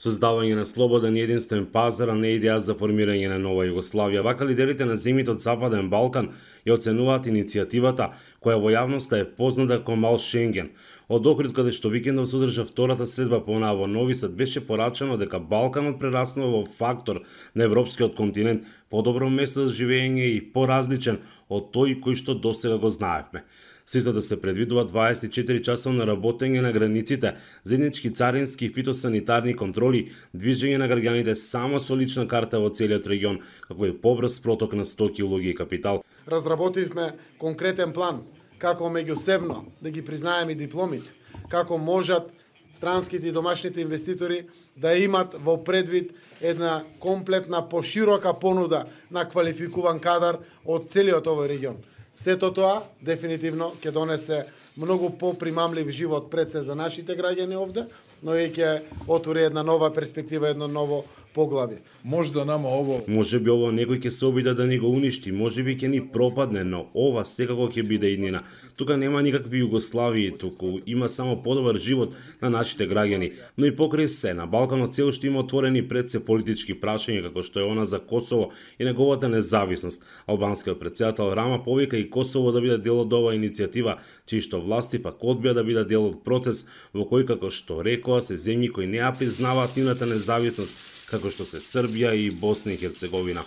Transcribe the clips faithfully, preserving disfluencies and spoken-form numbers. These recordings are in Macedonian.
Создавање на слободен и единствен пазар, а не идеја за формирање на нова Југославија. Вака лидерите на земјите од Западен Балкан ја оценуваат иницијативата, која во јавноста е позната како Мал Шенген. Од Охрид, каде што викендов се одржа втората средба понаа во Нови Сад, беше порачано дека Балканот прераснува во фактор на европскиот континент, подобро место за живење и поразличен од тој кој што досега го знаевме. Се за да се предвидува дваесет и четири часовно работење на границите, заеднички царински и фитосанитарни контроли, движење на граѓаните само со лична карта во целиот регион, како и побрз проток на стоки, луѓе и капитал. Разработивме конкретен план како меѓусебно да ги признаеме дипломите, како можат странските и домашните инвеститори да имат во предвид една комплетна поширока понуда на квалификуван кадар од целиот овој регион. Сето тоа дефинитивно ќе донесе многу попримамлив живот пред се за нашите граѓани овде, но и ќе отвори една нова перспектива, едно ново поглавје. Може да нама ово... Може би ово некој ќе се обиде да ни го уништи, може би ќе ни пропадне, но ова секако ќе биде иднина. Тука нема никакви Југославии, туку има само подобар живот на нашите граѓани. Но и покрај се, на Балканот се уште има отворени пред се политички прашања, како што е она за Косово и неговата независност. Албанскиот претседател Рама повика и Косово да биде дел од оваа иницијатива, чии што власти пак одбија да биде дел од процес во кој, како што рекоа, се земји кои не ја признаваат нивната независност, како што се Србија и Босна и Херцеговина.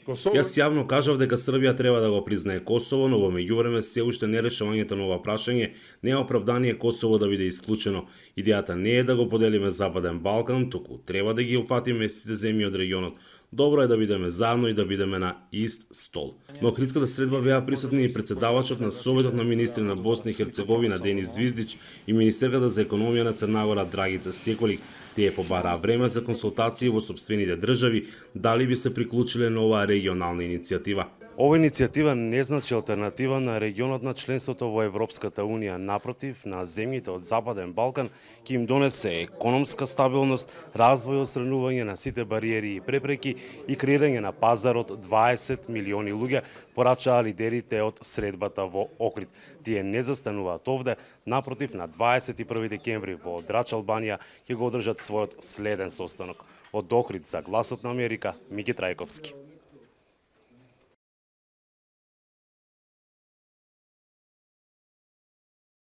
Јас јавно кажав дека Србија треба да го признае Косово, но во меѓувреме се уште нерешувањето на ова прашање не е оправдание Косово да биде исклучено. Идејата не е да го поделиме Западен Балкан, туку треба да ги уфатиме сите земји од регионот. Добро е да бидеме заедно и да бидеме на ист стол. На Охридската средба беа присутни и председавачот на Советот на министри на Босна и Херцеговина Денис Звиздич и министерката за економија на Црна Гора Драгица Секолик. Тие побараа време за консултации во сопствените држави дали би се приклучиле на оваа регионална иницијатива. Ова иницијатива не значи алтернатива на регионот на членството во Европската Унија. Напротив, на земјите од Западен Балкан ќе им донесе економска стабилност, развој, отстранување на сите бариери и препреки и креирање на пазар од дваесет милиони луѓе, порачаа лидерите од средбата во Охрид. Тие не застануваат овде, напротив, на дваесет и први декември во Драч, Албанија, ќе го одржат својот следен состанок. Од Охрид за Гласот на Америка, Мики Трајковски.